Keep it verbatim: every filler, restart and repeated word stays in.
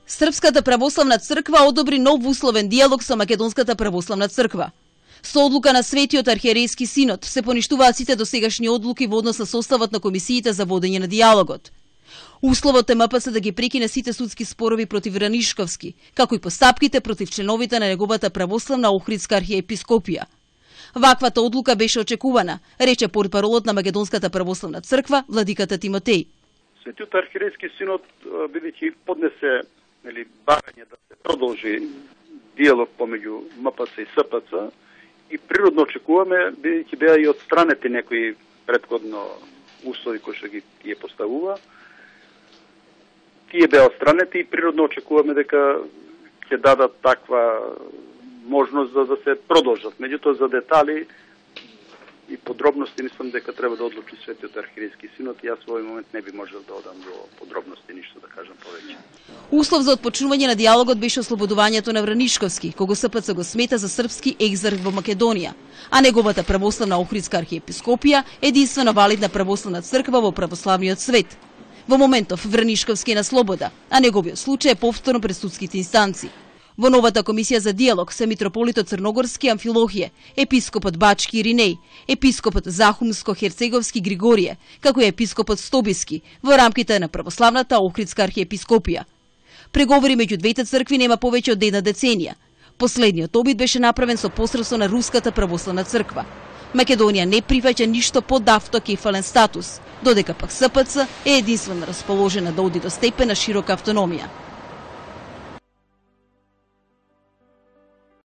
Српската православна црква одобри нов условен диалог со Македонската православна црква. Со одлука на Светиот архиерејски синод се поништуваат сите досегашни одлуки во однос на составот на комисиите за водење на диалогот. Условот е М П С да ги прекине сите судски спорови против Ранишковски, како и постапките против членовите на неговата православна Охридска архиепископија. Ваквата одлука беше очекувана, рече портпаролот на Македонската православна црква владиката Тимотеј. Светиот архиерејски синод бидејќи поднесе нели барање да се продолжи диалог помеѓу М П С и С П Ц и природно очекуваме бидејќи беа и отстранети некои претходно услови кои што ги ја поставува. Тие беа отстранети и природно очекуваме дека ќе дадат таква можност за да се продолжат. Меѓутоа за детали и подробности мислам дека треба да одлучи Светиот архиерејски синод и јас во овој момент не би можел да одам до подробности ништо да кажам повеќе. Услов за отпочнување на диалогот беше ослободувањето на Вранишковски, кого С П Ц го смета за српски екзарх во Македонија, а неговата православна Охридска архиепископија единствена валидна православна црква во православниот свет. Во моментов Вранишковски е на слобода, а неговиот случај е повторно пред судските инстанции. Во новата комисија за диалог се митрополитот Црногорски Амфилохије, епископот Бачки Иринеј, епископот Захумско-Херцеговски Григорије, како и епископот Стобиски во рамките на православната Охридска архиепископија. Преговори меѓу двете цркви нема повеќе од една деценија. Последниот обид беше направен со посредство на Руската православна црква. Македонија не прифаќа ништо под автокефален статус, додека пак С П Ц е единствено расположена да оди до степен на широка автономија.